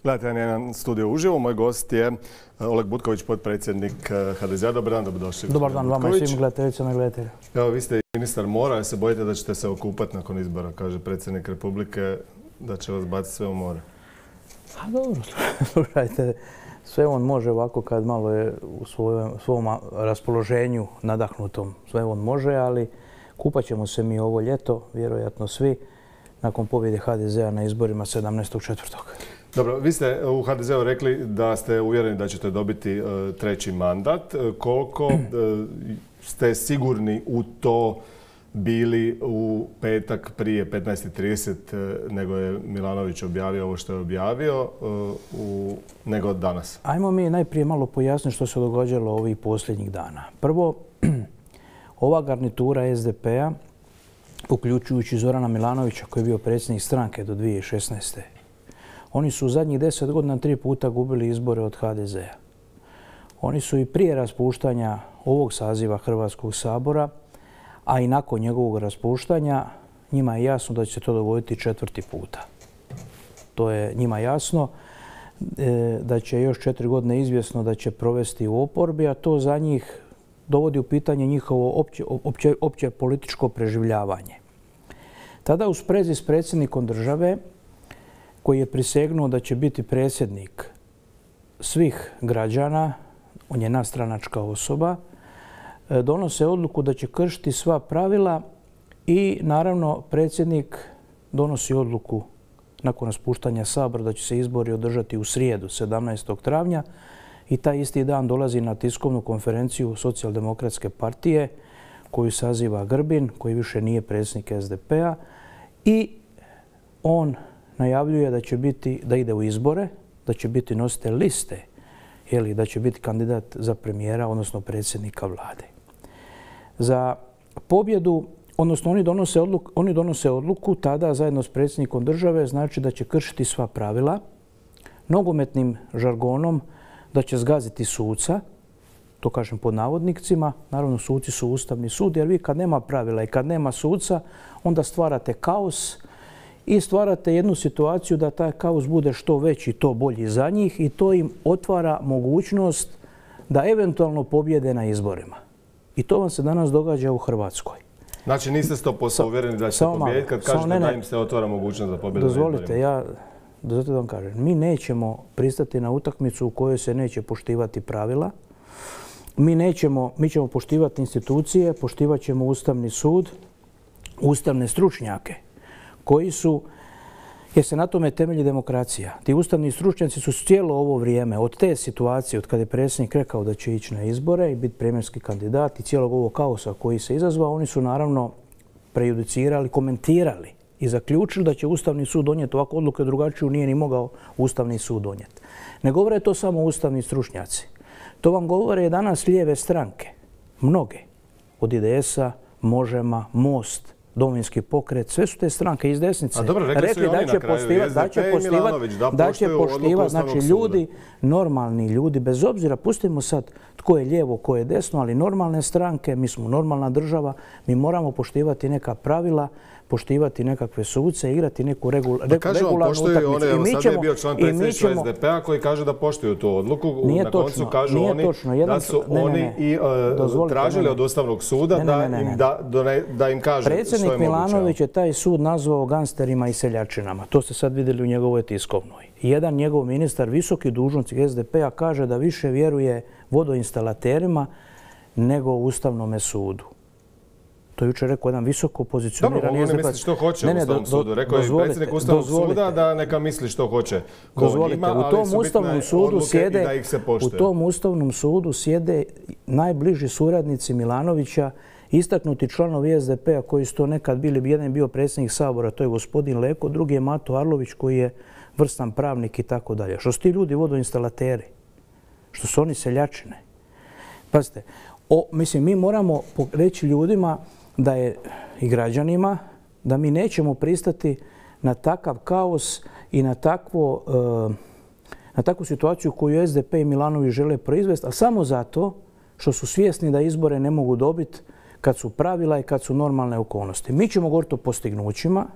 Gledajte, jedan studio uživo. Moj gost je Oleg Butković, potpredsjednik HDZ-a. Dobar dan, dobrodošli. Dobar dan vama i svim gledateljicama i gledateljima. Evo, vi ste ministar mora, a se bojite da ćete se okupati nakon izbora, kaže predsjednik Republike, da će vas baciti sve u more. A dobro, slušajte, sve on može ovako kad malo je u svom raspoloženju nadahnutom. Sve on može, ali kupat ćemo se mi ovo ljeto, vjerojatno svi, nakon pobjede HDZ-a na izborima 17.4. Dobro, vi ste u HDZ-u rekli da ste uvjereni da ćete dobiti treći mandat. Koliko ste sigurni u to bili u petak prije 15.30 nego je Milanović objavio ovo što je objavio, nego danas? Ajmo mi najprije malo pojasniti što se događalo ovih posljednjih dana. Prvo, ova garnitura SDP-a, uključujući Zorana Milanovića koji je bio predsjednik stranke do 2016. Oni su u zadnjih 10 godina 3 puta gubili izbore od HDZ-a. Oni su i prije raspuštanja ovog saziva Hrvatskog sabora, a i nakon njegovog raspuštanja, njima je jasno da će se to dogoditi 4. puta. To je njima jasno da će još 4 godine izvjesno da će provesti u oporbi, a to za njih dovodi u pitanje njihovo opće političko preživljavanje. Tada u sprezi s predsjednikom države, koji je prisegnuo da će biti predsjednik svih građana, on je nadstranačka osoba, donose odluku da će kršiti sva pravila i naravno predsjednik donosi odluku nakon raspuštanja Sabora da će se izbori održati u srijedu 17. travnja i taj isti dan dolazi na tiskovnu konferenciju Socijaldemokratske partije koju saziva Grbin, koji više nije predsjednik SDP-a, i on najavljuje da ide u izbore, da će biti nositelj liste, da će biti kandidat za premijera, odnosno predsjednika vlade. Za pobjedu, odnosno oni donose odluku tada zajedno s predsjednikom države, znači da će kršiti sva pravila, nogometnim žargonom da će zgaziti suca, to kažem pod navodnicima, naravno suci su Ustavni sud, jer vi kad nema pravila i kad nema suca, onda stvarate kaos i stvarate jednu situaciju da taj kaos bude što veći, to bolji za njih i to im otvara mogućnost da eventualno pobjede na izborima. I to vam se danas događa u Hrvatskoj. Znači niste 100% uvjereni da ćete pobijediti kad kažete da im se otvara mogućnost da pobjede na izborima? Dozvolite, zato vam kažem, mi nećemo pristati na utakmicu u kojoj se neće poštivati pravila. Mi ćemo poštivati institucije, poštivat ćemo Ustavni sud, ustavne stručnjake koji su, jer se na tome temelji demokracija. Ti ustavni stručnjaci su cijelo ovo vrijeme, od te situacije, od kada je predsjednik rekao da će ići na izbore i biti premijerski kandidat i cijelog ovog kaosa koji se izazvao, oni su naravno prejudicirali, komentirali i zaključili da će Ustavni sud donijeti ovakvu odluku, drugačiju nije ni mogao Ustavni sud donijeti. Ne govore to samo ustavni stručnjaci. To vam govore danas lijeve stranke, mnoge, od IDS-a, Možema, Most, Domovinski pokret, sve su te stranke iz desnice rekli da će poštivati, znači ljudi, normalni ljudi, bez obzira, pustimo sad tko je lijevo, tko je desno, ali normalne stranke, mi smo normalna država, mi moramo poštivati neka pravila, poštivati nekakve suce, igrati neku regularnu utakmicu. Evo sad je bio član predsjedništva SDP-a koji kaže da poštuju tu odluku. Na koncu kažu oni da su oni i tražili od Ustavnog suda da im kaže što je moguće. Predsjednik Milanović je taj sud nazvao gangsterima i seljačinama. To ste sad vidjeli u njegovoj tiskovnoj. Jedan njegov ministar, visoki dužnosnik SDP-a, kaže da više vjeruje vodoinstalaterima nego Ustavnome sudu. To je jučer rekao jedan visoko pozicionirani SDP. Dobro, oni misli što hoće u Ustavnom sudu. Rekao je predsjednik Ustavnog suda da neka misli što hoće. Dozvolite, u tom Ustavnom sudu sjede najbliži suradnici Milanovića, istaknuti članovi SDP-a koji su to nekad bili, jedan je bio predsjednik Sabora, to je gospodin Leko, drugi je Mato Arlović koji je vrstan pravnik i tako dalje. Što su ti ljudi vodoinstalateri? Što su oni seljačine? Pazite, mi moramo reći ljudima da je i građanima da mi nećemo pristati na takav kaos i na takvu situaciju koju SDP i Milanović žele proizvesti, a samo zato što su svjesni da izbore ne mogu dobiti kad su pravila i kad su normalne okolnosti. Mi ćemo govoriti o postignućima,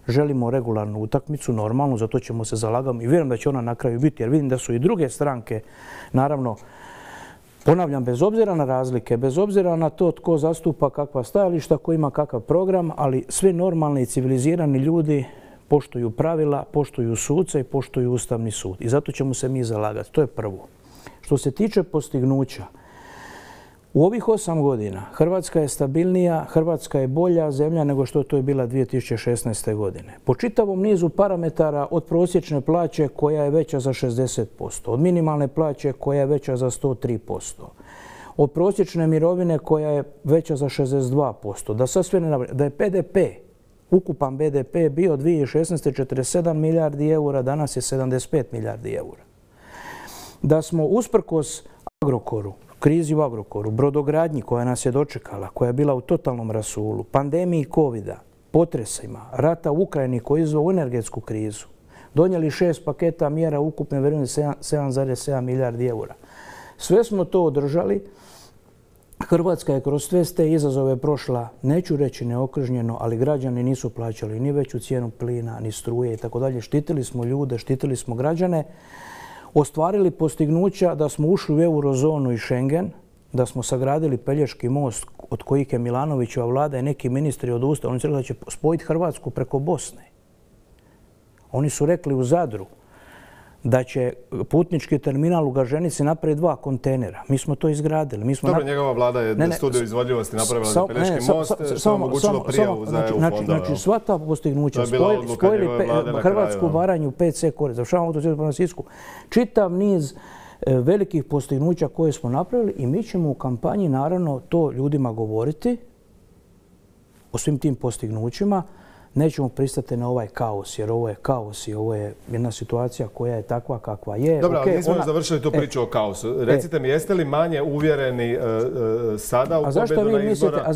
želimo regularnu utakmicu, normalno, zato ćemo se zalagati i vjerujem da će ona na kraju biti, jer vidim da su i druge stranke, naravno, ponavljam, bez obzira na razlike, bez obzira na to tko zastupa kakva stajališta, ko ima kakav program, ali svi normalni i civilizirani ljudi poštuju pravila, poštuju suce i poštuju Ustavni sud. I zato ćemo se mi zalagati. To je prvo. Što se tiče postignuća, u ovih 8 godina Hrvatska je stabilnija, Hrvatska je bolja zemlja nego što to je bila 2016. godine. Po čitavom nizu parametara od prosječne plaće koja je veća za 60%, od minimalne plaće koja je veća za 103%, od prosječne mirovine koja je veća za 62%, da sad sve ne nabrajam, da je PDP, ukupan BDP bio 2016. 47 milijardi eura, danas je 75 milijardi eura. Da smo usprkos Agrokoru, krizi u Agrokoru, brodogradnji koja nas je dočekala, koja je bila u totalnom rasulu, pandemiji covida, potresima, rata u Ukrajini koji je izveo energetsku krizu, donijeli 6 paketa mjera ukupne vrijednosti 7,7 milijardi eura. Sve smo to održali. Hrvatska je kroz sve te izazove prošla, neću reći neokržnjeno, ali građani nisu plaćali ni veću cijenu plina, ni struje i tako dalje. Štitili smo ljude, štitili smo građane, ostvarili postignuća da smo ušli u eurozonu i Schengen, da smo sagradili Pelješki most od kojih je Milanovićeva vlada i neki ministri odustali. Oni su rekli da će spojiti Hrvatsku preko Bosne. Oni su rekli u Zadru da će putnički terminal u Gaženici napraviti 2 kontejnera. Mi smo to izgradili. Dobro, njegova vlada je studiju izvodljivosti napravila za Pelješki most, što je omogućilo prijavu za EU fondova. Znači, sva ta postignuća, spojili Hrvatsku, Baranju, PC korist, završavamo autocestu prema Sisku. Čitav niz velikih postignuća koje smo napravili i mi ćemo u kampanji naravno to ljudima govoriti o svim tim postignućima. Nećemo pristati na ovaj kaos, jer ovo je kaos i ovo je jedna situacija koja je takva kakva je. Dobro, ali nismo završili tu priču o kaosu. Recite mi, jeste li manje uvjereni sada u pobjedu na izbora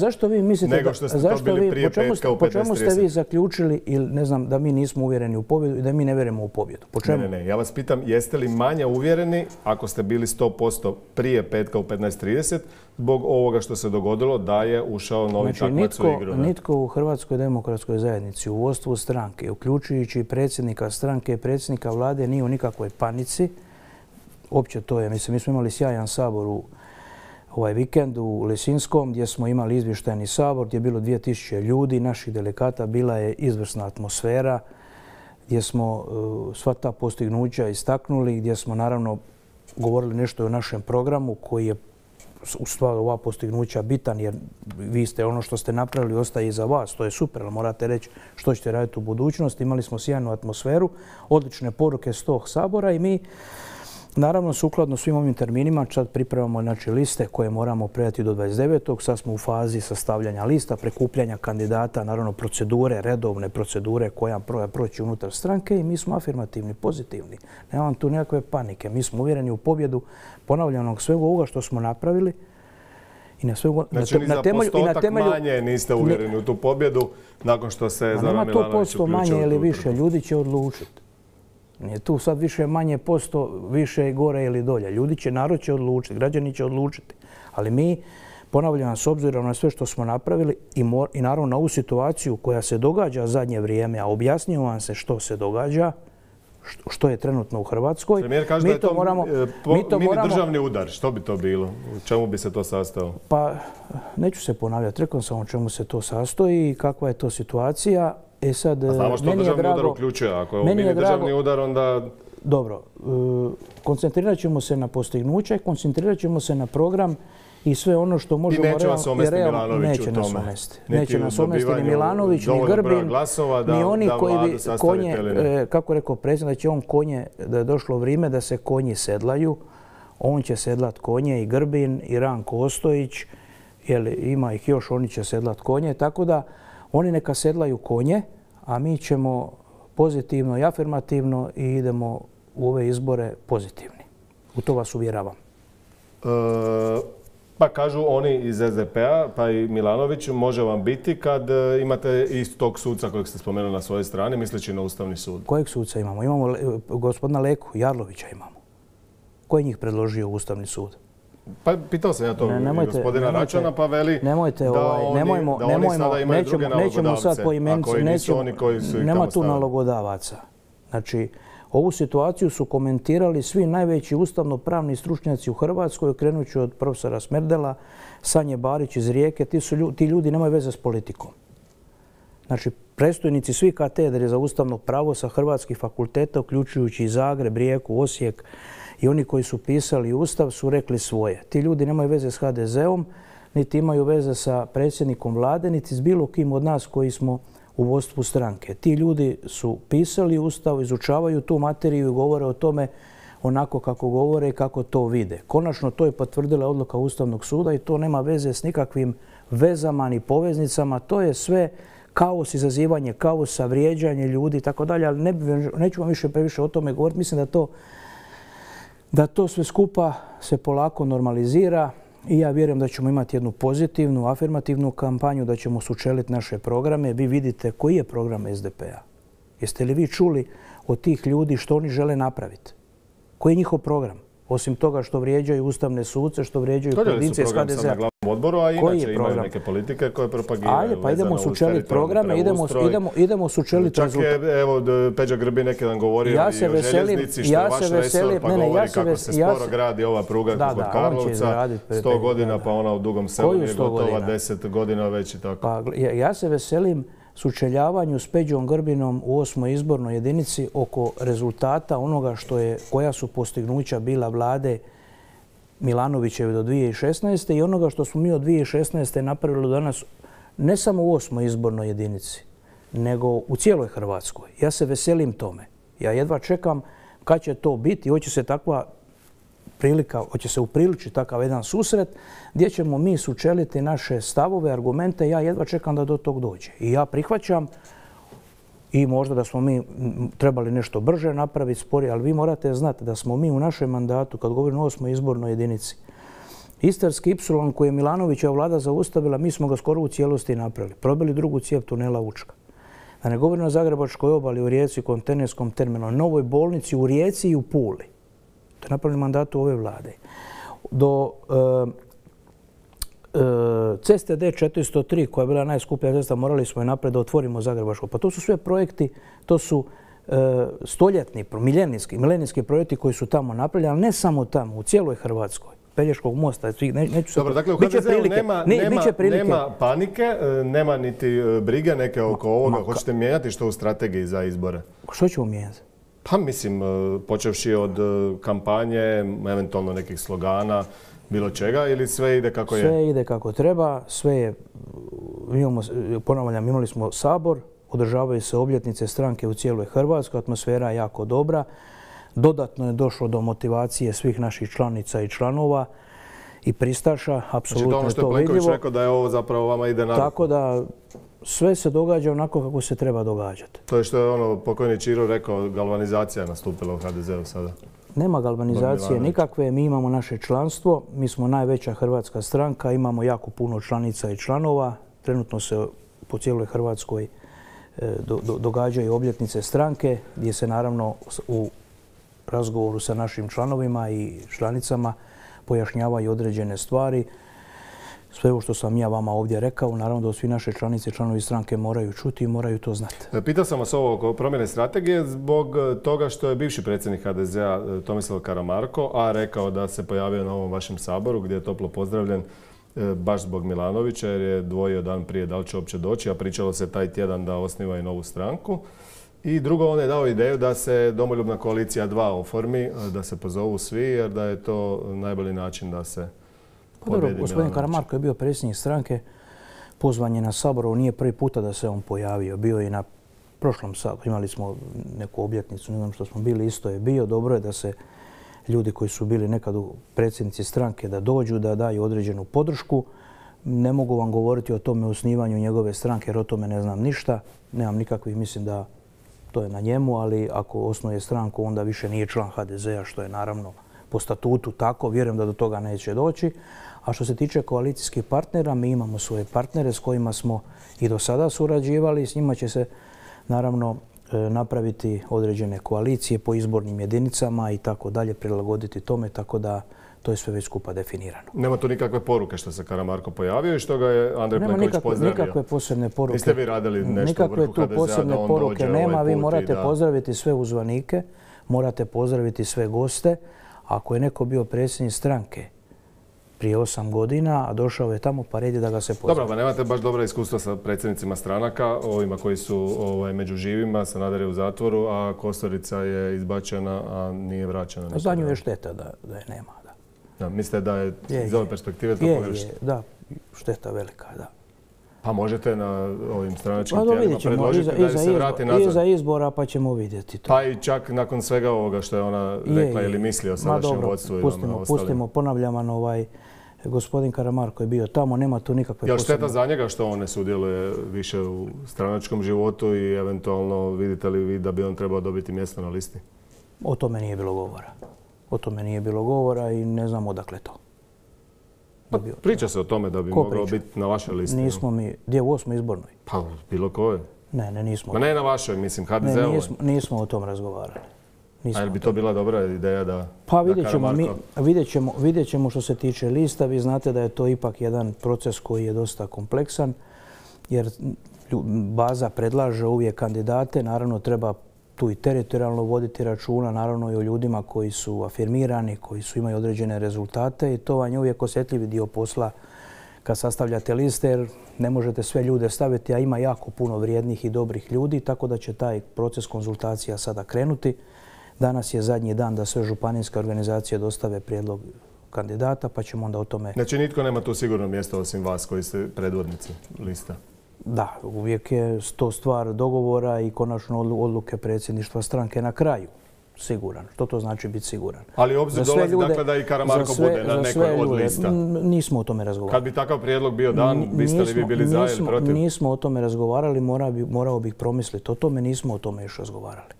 nego što ste to bili prije petka u 15:30? Po čemu ste vi zaključili, ili ne znam, da mi nismo uvjereni u pobjedu i da mi ne vjerujemo u pobjedu? Po čemu? Ne. Ja vas pitam, jeste li manje uvjereni ako ste bili 100% prije petka u 15:30 zbog ovoga što se dogodilo da je ušao novi takmac u igru? Nitko u Hrvatskoj demokratskoj zajednici, u vodstvu stranke, uključujući predsjednika stranke i predsjednika vlade, nije u nikakvoj panici. Opće to je, mislim, mi smo imali sjajan sabor u ovaj vikend u Lisinskom, gdje smo imali izvještajni sabor, gdje je bilo 2000 ljudi, naših delegata, bila je izvrsna atmosfera, gdje smo sva ta postignuća istaknuli, gdje smo naravno govorili nešto o našem programu koji je u stvari ova postignuća bitan, jer vi ste ono što ste napravili ostaje iza vas, to je super, ali morate reći što ćete raditi u budućnosti. Imali smo sjajnu atmosferu, odlične poruke s tog sabora i mi naravno sukladno svim ovim terminima sad pripremamo liste koje moramo predati do 29. Sad smo u fazi sastavljanja lista, prikupljanja kandidata, naravno procedure, redovne procedure koja proći unutar stranke i mi smo afirmativni, pozitivni. Nemam tu nekakve panike. Mi smo uvjereni u pobjedu ponavljanog svega ovoga što smo napravili. Znači ni za postotak manje niste uvjereni u tu pobjedu nakon što se Zoran Milanović uključio. Nema to posto manje ili više, ljudi će odlučiti. Nije tu sad više manje posto, više gore ili dolje. Narod će odlučiti, građani će odlučiti. Ali mi, ponavljam, s obzirom na sve što smo napravili i naravno na ovu situaciju koja se događa zadnje vrijeme, a objasnio vam se što se događa, što je trenutno u Hrvatskoj. Premijer kaže da je to mini državni udar. Što bi to bilo? U čemu bi se to sastojalo? Pa, neću se ponavljati. Rekao sam o čemu se to sastoji i kakva je to situacija. Znamo što državni udar uključuje. Ako je ovo mini državni udar, onda... Dobro, koncentrirat ćemo se na postignuće, koncentrirat ćemo se na program i sve ono što možemo... I neće vas omesti Milanović u tome. Neće nas omesti ni Milanović, ni Grbin, ni oni koji bi konje, kako rekao predsjednik, da će on konje, da je došlo vrijeme da se konji sedlaju. On će sedlat konje i Grbin i Ranko Ostojić, ima ih još, oni će sedlat konje, tako da oni neka sedlaju konje, a mi ćemo pozitivno i afirmativno i idemo u ove izbore pozitivni. U to vas uvjeravam. Pa kažu oni iz SDP-a, pa i Milanović, može vam biti kad imate istog suca kojeg ste spomenuli na svojoj strani, misleći na Ustavni sud. Kojeg suca imamo? Imamo gospodina Leku, Jarlovića imamo. Ko je njih predložio u Ustavni sud? Pa pitao sam ja to gospodina Račana, pa veli da oni sada imaju druge nalogodavce, a koji nisu oni koji su ih tamo nema tu stavili. nalogodavaca. Znači, ovu situaciju su komentirali svi najveći ustavno-pravni stručnjaci u Hrvatskoj, krenući od profesora Smerdela, Sanje Barić iz Rijeke. Ti ljudi nemaju veze s politikom. Znači, predstojnici svih katedre za ustavno pravo sa hrvatskih fakulteta, uključujući i Zagreb, Rijeku, Osijek, i oni koji su pisali Ustav su rekli svoje. Ti ljudi nemaju veze s HDZ-om, niti imaju veze sa predsjednikom vlade, niti s bilo kim od nas koji smo u vodstvu stranke. Ti ljudi su pisali Ustav, izučavaju tu materiju i govore o tome onako kako govore i kako to vide. Konačno to je potvrdila odluka Ustavnog suda i to nema veze s nikakvim vezama ni poveznicama. To je sve kaos, izazivanje kaosa, vrijeđanje ljudi i tako dalje, ali neću vam više previše o tome govoriti. Mislim da to sve skupa se polako normalizira i ja vjerujem da ćemo imati jednu pozitivnu, afirmativnu kampanju, da ćemo sučeliti naše programe. Vi vidite koji je program SDP-a. Jeste li vi čuli od tih ljudi što oni žele napraviti? Koji je njihov program? Osim toga što vrijeđaju ustavne suce, što vrijeđaju pojedince iz HDZ-a. Program sam na glavnom odboru, a inače imaju neke politike koje propagiraju. Ajde, pa idemo sučeliti programe, idemo sučeliti rezultat. Čak je, evo, Peđa Grbin neki dan govorio i o željeznici, što je vaš resor, pa govori kako se sporo gradi ova pruga kod Karlovca, 100 godina, pa ona u Dugom Selu je gotova 10 godina već i tako. Ja se veselim sučeljavanju s Peđom Grbinom u 8. izbornoj jedinici oko rezultata onoga koja su postignuća bila vlade Milanovićeve do 2016. i onoga što smo mi od 2016. napravili danas ne samo u 8. izbornoj jedinici, nego u cijeloj Hrvatskoj. Ja se veselim tome. Ja jedva čekam kad će to biti. Hoće se takva prilika, hoće se upriličiti takav jedan susret gdje ćemo mi sučeliti naše stavove, argumente. Ja jedva čekam da do tog dođe. I ja prihvaćam i možda da smo mi trebali nešto brže napraviti, sporije, ali vi morate znati da smo mi u našem mandatu, kad govorimo o 8. izbornoj jedinici, Istarski Ipsilon koji je Milanovićeva vlada zaustavila, mi smo ga skoro u cijelosti napravili. Probili drugu cijev tunela Učka. Da ne govorimo o Zagrebačkoj obali, u Rijeci, kontejnerskom terminalu, novoj bolnici u Rijeci i u Puli. To je napravljeno mandatu ove vlade. Do ceste D403, koja je bila najskuplja cesta, morali smo je napred da otvorimo Zagrebačko. Pa to su sve projekti, to su stoljetni, milenijski projekti koji su tamo napravljeni, ali ne samo tamo, u cijeloj Hrvatskoj. Pelješkog mosta. Dobro, dakle u HDZ-u nema panike, nema niti brige neke oko ovoga. Hoćete mijenjati što u strategiji za izbore? Što ćemo mijenjati? Pa mislim, počevši od kampanje, eventualno nekih slogana, bilo čega, ili sve ide kako je? Sve ide kako treba, sve je, ponavljam, imali smo Sabor, održavaju se obljetnice stranke u cijeloj Hrvatskoj, atmosfera je jako dobra. Dodatno je došlo do motivacije svih naših članica i članova i pristaša, apsolutno je to vidljivo. Znači to ono što je Plenković rekao da je ovo zapravo vama ide na ruku. Tako da sve se događa onako kako se treba događati. To je što je ono pokojni Čiro rekao, galvanizacija nastupila u HDZ-u sada. Nema galvanizacije nikakve, mi imamo naše članstvo, mi smo najveća hrvatska stranka, imamo jako puno članica i članova. Trenutno se po cijeloj Hrvatskoj događaju obljetnice stranke gdje se naravno u razgovoru sa našim članovima i članicama pojašnjavaju određene stvari. Sve ovo što sam ja vama ovdje rekao, naravno da svi naše članice i članovi stranke moraju čuti i moraju to znati. Pitao sam vas ovo oko promjene strategije zbog toga što je bivši predsjednik HDZ-a Tomislav Karamarko, a rekao da se pojavio na ovom vašem saboru gdje je toplo pozdravljen baš zbog Milanovića jer je dvojio dan prije da li će uopće doći, a pričalo se taj tjedan da osniva i novu stranku. I drugo, on je dao ideju da se Domoljubna koalicija 2 oformi, da se pozovu svi jer da je to najbolji način da se pobjedi Milanović. Gospodin Karamarko je bio predsjednik stranke, pozvan je na Saboru, nije prvi puta da se on pojavio. Bio je i na prošlom Saboru, imali smo neku obljetnicu, ne znam što smo bili, isto je bio. Dobro je da se ljudi koji su bili nekad predsjednici stranke da dođu, da daju određenu podršku. Ne mogu vam govoriti o tome osnivanju njegove stranke jer o tome ne znam ništa. Nemam nikakvih, mislim da to je na njemu, ali ako osnuje stranku onda više nije član HDZ-a, što je naravno po statutu tako. Vjerujem da do toga neće doći. A što se tiče koalicijskih partnera, mi imamo svoje partnere s kojima smo i do sada surađivali. S njima će se naravno napraviti određene koalicije po izbornim jedinicama i tako dalje, prilagoditi tome, tako da to je sve već skupa definirano. Nema tu nikakve poruke što se Karamarko pojavio i što ga je Andrej Plenković pozdravio? Nema nikakve posebne poruke. Niste vi radili nešto u vrhu HDZ-a da on dođe Nikakve tu posebne poruke nema. Vi morate da... pozdraviti sve uzvanike, morate pozdraviti sve goste. Ako je neko bio predsjednik stranke prije 8 godina, a došao je tamo, pa red je da ga se pozdravi. Dobro, pa nemate baš dobra iskustva sa predsjednicima stranaka, ovima koji su među živima, Sanader je u zatvoru, a Kosorica je izbačena, a nije vraćena. Za nju je šteta da je nema. Da, mislite da je iz ove perspektive to pogrešno? Da, šteta velika, da. Pa možete na ovim stranačkim tijelima predložiti da se vrati nazad? Iza izbora pa ćemo vidjeti to. Pa i čak nakon svega ovoga što je ona rekla ili misli o sadašnjem vodstvu i ostalim. Pustimo, ponavljam, gospodin Karamarko je bio tamo, nema tu nikakve posebne... Je li šteta za njega što on ne sudjeluje više u stranačkom životu i eventualno vidite li vi da bi on trebao dobiti mjesto na listi? O tome nije bilo govora. O tome nije bilo govora i ne znam odakle to. Pa, priča se o tome da bi mogao biti na vašoj listi. Nismo mi, gdje u 8. izbornoj? Pa bilo koje. Ne, nismo. Ma ne na vašoj, mislim, HDZ-ovoj. Nismo o tom razgovarali. A je bi to bila dobra ideja da Pa vidjet ćemo što se tiče lista. Vi znate da je to ipak jedan proces koji je dosta kompleksan, jer baza predlaže uvijek kandidate. Naravno, treba tu i teritorijalno voditi računa, naravno i o ljudima koji su afirmirani, koji imaju određene rezultate i to vam je uvijek osjetljivi dio posla kad sastavljate liste, jer ne možete sve ljude staviti, a ima jako puno vrijednih i dobrih ljudi, tako da će taj proces konzultacija sada krenuti. Danas je zadnji dan da sve županijske organizacije dostave prijedlog kandidata, pa ćemo onda o tome... Znači nitko nema tu sigurno mjesto osim vas koji ste predvodnici lista? Da, uvijek je to stvar dogovora i konačno odluke predsjedništva stranke na kraju. Siguran. Što to znači biti siguran? Ali obzir dolazi dakle da i Karamarko bude na nekoj od lista. Nismo o tome razgovarali. Kad bi takav prijedlog bio dan, biste li vi bili za ili protiv? Nismo o tome razgovarali, morao bih promisliti o tome, nismo o tome još razgovarali.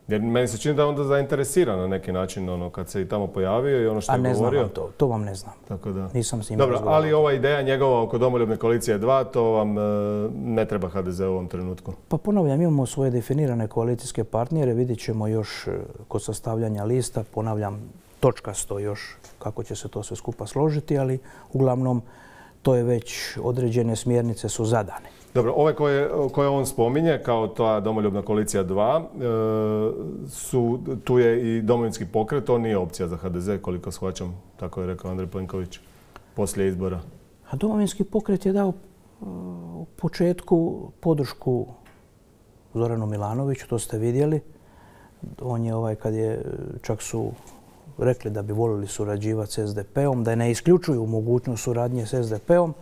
Jer meni se čini da je onda zainteresiran na neki način kad se i tamo pojavio i ono što je govorio. A ne znam to vam ne znam. Tako da. Nisam s njima razgovarao. Ali ova ideja njegova oko Domoljubne koalicije 2, to vam ne treba HDZ u ovom trenutku? Pa ponavljam, imamo svoje definirane koalicijske partnere, vidjet ćemo još kod sastavljanja lista, ponavljam točkasto još kako će se to sve skupa složiti, ali uglavnom to je već određene smjernice su zadane. Dobro, ove koje on spominje kao ta Domoljubna koalicija 2, tu je i Domovinski pokret, on nije opcija za HDZ, koliko shvaćam, tako je rekao Andrej Plenković, poslije izbora. A Domovinski pokret je dao u početku podršku Zoranu Milanoviću, to ste vidjeli. On je kad je, čak su rekli da bi volili surađivati s SDP-om, da ne isključuju mogućnost suradnje s SDP-om.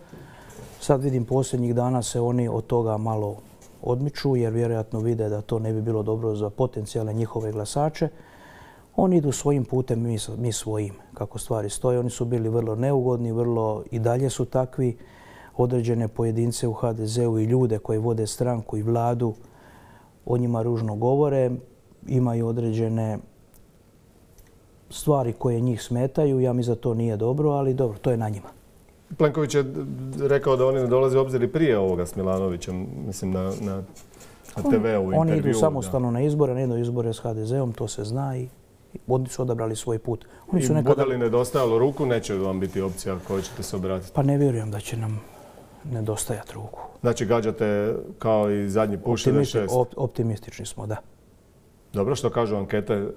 Sad vidim posljednjih dana se oni od toga malo odmiču jer vjerojatno vide da to ne bi bilo dobro za potencijalne njihove glasače. Oni idu svojim putem, mi svojim, kako stvari stoje. Oni su bili vrlo neugodni, vrlo i dalje su takvi. Određene pojedince u HDZ-u i ljude koji vode stranku i vladu o njima ružno govore. Imaju određene stvari koje njih smetaju. Ja mislim da to nije dobro, ali dobro, to je na njima. Plenković je rekao da oni ne dolaze u obzir i prije ovoga s Milanovićem, mislim na TV-u intervju. Oni idu samostalno na izbore, ne idu izbore s HDZ-om, to se zna i oni su odabrali svoj put. I bude li nedostajalo ruku, neće vam biti opcija kojoj ćete se obratiti? Pa ne vjerujem da će nam nedostajati ruku. Znači gađate kao i zadnji put 66? Optimistični smo, da. Dobro, što kažu ankete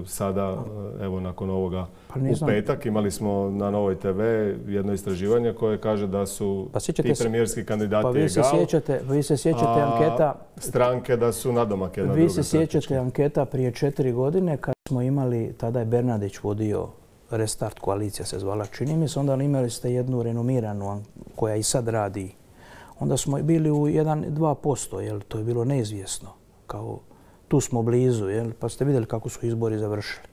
sada, evo nakon ovoga u petak, imali smo na Novoj TV jedno istraživanje koje kaže da su ti premijerski kandidati egal, vi se sjećate anketa, stranke da su nadomak jedna druga. Vi se sjećate anketa prije 4 godine kad smo imali, tada je Bernardić vodio Restart koalicija se zvala, čini mi se, onda imali ste jednu renomiranu koja i sad radi. Onda smo bili u 1-2%, jer to je bilo neizvjesno, kao tu smo blizu, pa ste vidjeli kako su izbori završili.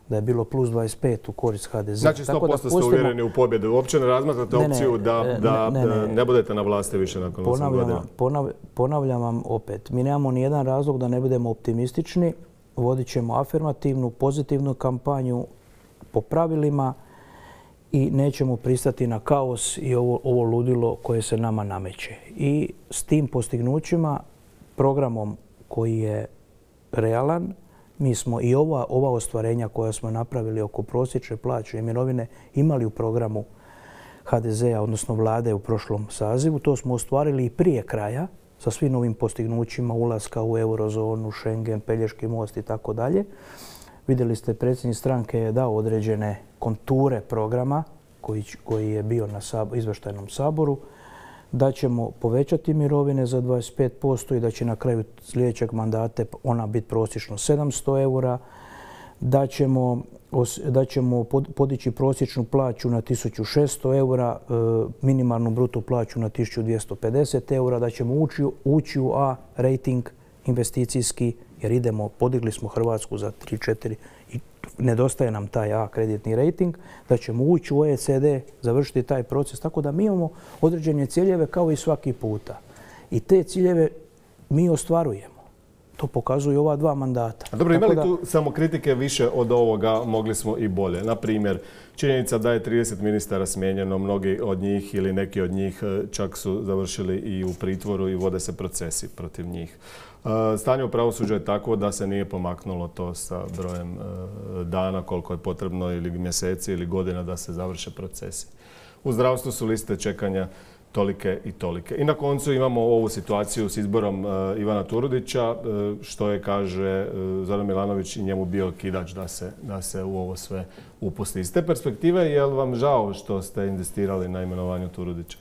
Da je bilo plus 25 u korist HDZ. Znači 100% ste uvjereni u pobjedu. Uopće ne razmatrate opciju da ne budete na vlasti više nakon 8 godina. Ponavljam vam opet. Mi nemamo ni jedan razlog da ne budemo optimistični. Vodit ćemo afirmativnu, pozitivnu kampanju po pravilima i nećemo pristati na kaos i ovo ludilo koje se nama nameće. I s tim postignućima, programom koji je realan, Mi smo i ova ostvarenja koja smo napravili oko prosječne plaće i mirovine imali u programu HDZ-a, odnosno vlade u prošlom sazivu. To smo ostvarili i prije kraja sa svim novim postignućima ulaska u eurozonu, Schengen, Pelješki most i tako dalje. Vidjeli ste, predsjednik stranke je dao određene konture programa koji je bio na izvještajnom saboru, da ćemo povećati mirovine za 25% i da će na kraju sljedećeg mandata ona biti prosječno 700 eura, da ćemo podići prosječnu plaću na 1600 eura, minimalnu bruto plaću na 1250 eura, da ćemo ući u A rating investicijski, jer podigli smo Hrvatsku za 3-4 i nedostaje nam taj A kreditni rating, da ćemo ući u OECD, završiti taj proces. Tako da mi imamo određene ciljeve kao i svaki puta. I te ciljeve mi ostvarujemo. To pokazuju ova 2 mandata. Dobro, imali tu samo kritike više od ovoga, mogli smo i bolje. Na primjer, činjenica da je 30 ministara smijenjeno, mnogi od njih ili neki od njih čak su završili i u pritvoru i vode se procesi protiv njih. Stanje u pravosuđu je tako da se nije pomaknulo to sa brojem dana koliko je potrebno ili mjeseci ili godina da se završe procesi. U zdravstvu su liste čekanja tolike i tolike. I na koncu imamo ovu situaciju s izborom Ivana Turudića, što je, kaže Zoran Milanović, i njemu bio kidač da se u ovo sve upusti. Iz te perspektive, je li vam žao što ste inzistirali na imenovanju Turudića?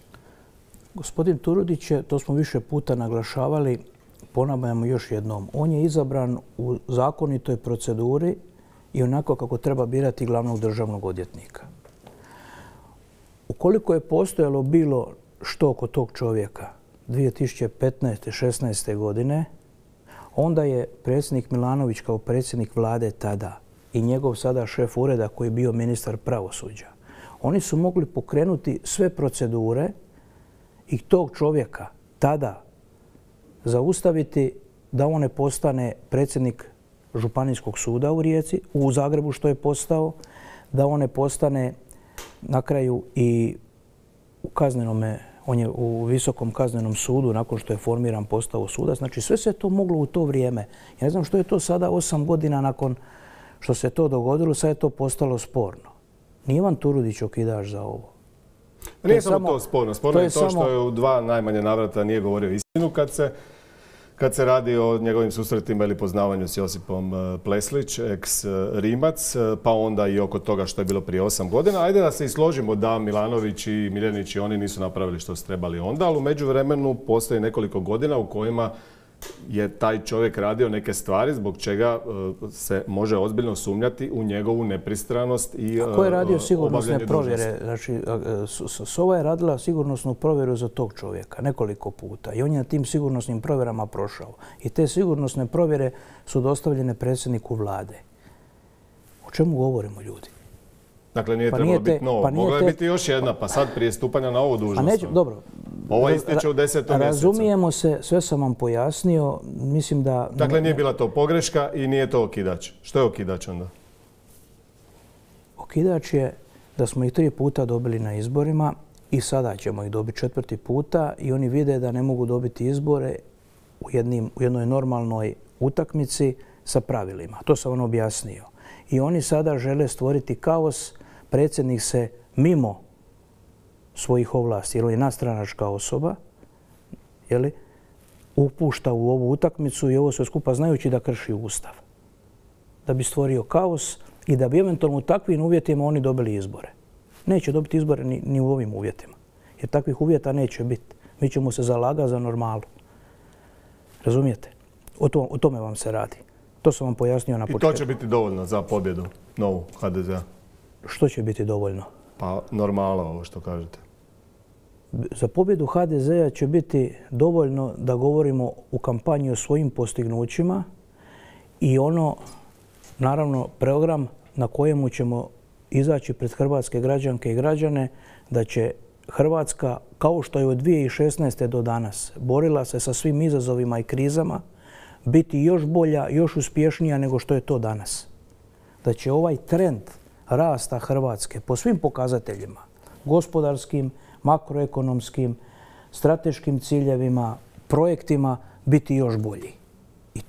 Gospodin Turudić je, to smo više puta naglašavali, ponavljamo još jednom, on je izabran u zakonitoj proceduri i onako kako treba birati glavnog državnog odvjetnika. Ukoliko je postojalo bilo što oko tog čovjeka 2015. 16. godine, onda je predsjednik Milanović kao predsjednik vlade tada i njegov sada šef ureda koji je bio ministar pravosuđa, oni su mogli pokrenuti sve procedure i tog čovjeka tada zaustaviti da on ne postane predsjednik Županijskog suda u Rijeci, u Zagrebu što je postao, da on ne postane na kraju i u kaznenome, on je u Visokom kaznenom sudu nakon što je formiran postao sudac. Znači sve se to moglo u to vrijeme. Ja ne znam što je to sada 8 godina nakon što se to dogodilo, sad je to postalo sporno. Nije Ivan Turudić okidač za ovo. Nije samo to sporno. Sporno je to što je u 2 najmanje navrata nije govorio istinu kad se radi o njegovim susretima ili poznavanju s Josipom Pleslić, ex-Rimac, pa onda i oko toga što je bilo prije 8 godina. Ajde da se i složimo da Milanović i Miljenić i oni nisu napravili što su trebali onda, ali u međuvremenu postoji nekoliko godina u kojima je taj čovjek radio neke stvari zbog čega se može ozbiljno sumnjati u njegovu nepristranost i obavljanje dužnosti. Ko je radio sigurnosne provjere? Znači, SOVA je radila sigurnosnu provjeru za tog čovjeka nekoliko puta i on je na tim sigurnosnim provjerama prošao. I te sigurnosne provjere su dostavljene predsjedniku vlade. O čemu govorimo, ljudi? Dakle, nije trebalo biti novo. Mogla je biti još jedna, pa sad prije stupanja na ovu dužnost. Dobro. Ovo ističe u 10. mjesecu. Razumijemo se, sve sam vam pojasnio. Mislim da... Dakle, nije bila to pogreška i nije to okidač. Što je okidač onda? Okidač je da smo ih 3 puta dobili na izborima i sada ćemo ih dobiti 4. puta i oni vide da ne mogu dobiti izbore u jednoj normalnoj utakmici sa pravilima. To sam vam objasnio. I oni sada žele stvoriti kaos. Predsjednik se mimo svojih ovlasti, jer on je nadstranačka osoba, upušta u ovu utakmicu i ovo sve skupa znajući da krši Ustav. Da bi stvorio kaos i da bi eventualno u takvim uvjetima oni dobili izbore. Neće dobiti izbore ni u ovim uvjetima, jer takvih uvjeta neće biti. Mi ćemo se zalagati za normalu. Razumijete? O tome vam se radi. To sam vam pojasnio na početku. I to će biti dovoljno za pobjedu novu HDZ-a? Što će biti dovoljno? Pa normala, ovo što kažete. Za pobjedu HDZ-a će biti dovoljno da govorimo u kampanji o svojim postignućima i naravno, program na kojemu ćemo izaći pred hrvatske građanke i građane da će Hrvatska, kao što je od 2016. do danas, borila se sa svim izazovima i krizama, biti još bolja, još uspješnija nego što je to danas. Da će ovaj trend rasta Hrvatske po svim pokazateljima, gospodarskim, makroekonomskim, strateškim ciljevima, projektima, biti još bolji. I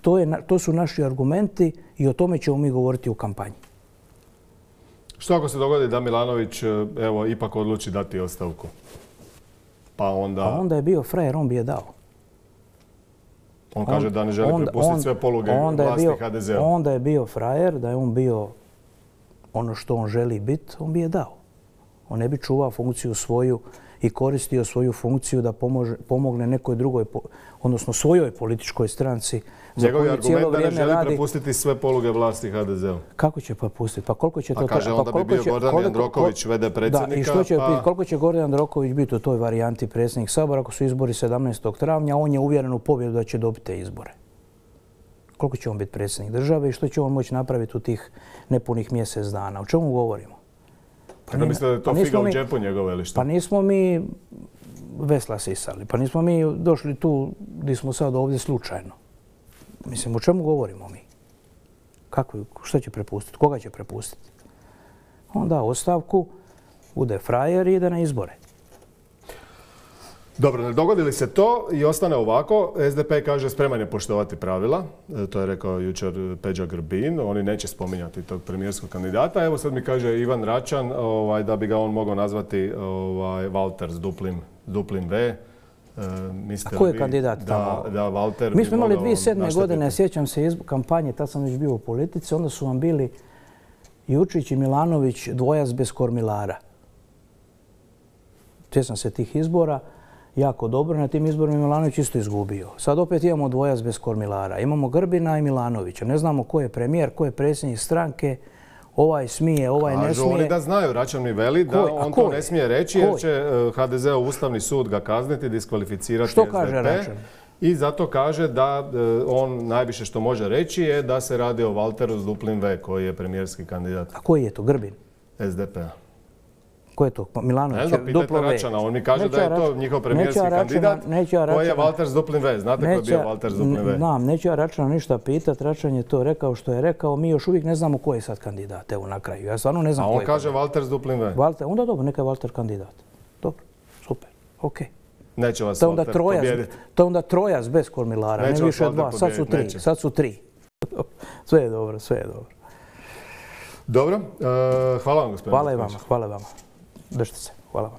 to su naši argumenti i o tome ćemo mi govoriti u kampanji. Što ako se dogodi da Milanović evo ipak odluči dati ostavku? Pa onda je bio frajer, on bi je dao. On kaže da ne želi prepustiti sve poluge vlasti HDZ-a. Onda je bio frajer, da je on bio ono što on želi biti, on bi je dao. On ne bi čuvao funkciju svoju i koristio svoju funkciju da pomogne nekoj drugoj, odnosno svojoj političkoj stranci. Njegovi argument da ne želi prepustiti sve poluge vlasti HDZ-u. Kako će prepustiti? Pa koliko će to... A kaže onda bi bio Gordan Jandroković, v.d. predsjednika. Da, i što će biti? Koliko će Gordan Jandroković biti u toj varijanti predsjednik Sabora ako su izbori 17. travnja, on je uvjeren u pobjedu da će dobiti te izbore. Koliko će on biti predsjednik države i što će on moći napraviti u tih nepunih mjesec dana? O čemu govorimo? Kada mislite da je to figa u džepu njegove ili što? Pa nismo mi vesla sisali, pa nismo mi došli tu gdje smo sad ovdje slučajno. Mislim, o čemu govorimo mi? Što će prepustiti? Koga će prepustiti? On da ostavku, bude frajer i ide na izbore. Dobro, ne dogodi li se to i ostane ovako, SDP kaže spreman je poštovati pravila, to je rekao jučer Peđa Grbin, oni neće spominjati tog premijerskog kandidata. Evo sad mi kaže Ivan Račan da bi ga on mogao nazvati Valter s duplim V. A ko je kandidat tamo? Da Valter mi smo imali 2007. godine, sjećam se kampanje, tad sam već bio u politici, onda su vam bili Jučić i Milanović dvojac bez kormilara. Sjećam se tih izbora. Jako dobro. Na tim izborima Milanović isto izgubio. Sad opet imamo dvojac bez kormilara. Imamo Grbina i Milanovića. Ne znamo ko je premijer, ko je predsjednik stranke. Ovaj smije, ovaj ne smije. Oni da znaju, Račan mi veli da on to ne smije reći jer će HDZ-ov Ustavni sud ga kazniti, diskvalificirati SDP. Što kaže Račan? I zato kaže da on najviše što može reći je da se radi o Valteru s duplim V koji je premijerski kandidat. A koji je to? Grbin? SDP-a. Ko je to? Milanović? Ne znam, pitajte Račana. On mi kaže da je to njihov premijerski kandidat koji je Valter s duplim V. Znate ko je bio Valter s duplim V? Znam, neću ja Račana ništa pitati. Račan je to rekao što je rekao. Mi još uvijek ne znamo ko je sad kandidat. Evo na kraju. Ja stvarno ne znam ko je. A on kaže Valter s duplim V. Onda dobro, neka je Valter kandidat. Dobro, super, okej. Neće vas Valter pobijediti. To je onda trojac bez kormilara, ne više dva. Sad su tri. Sve je dobro, sve je dobro. Dobro, hvala vam gospodine. Hvala i vama. Držite se. Hvala vam.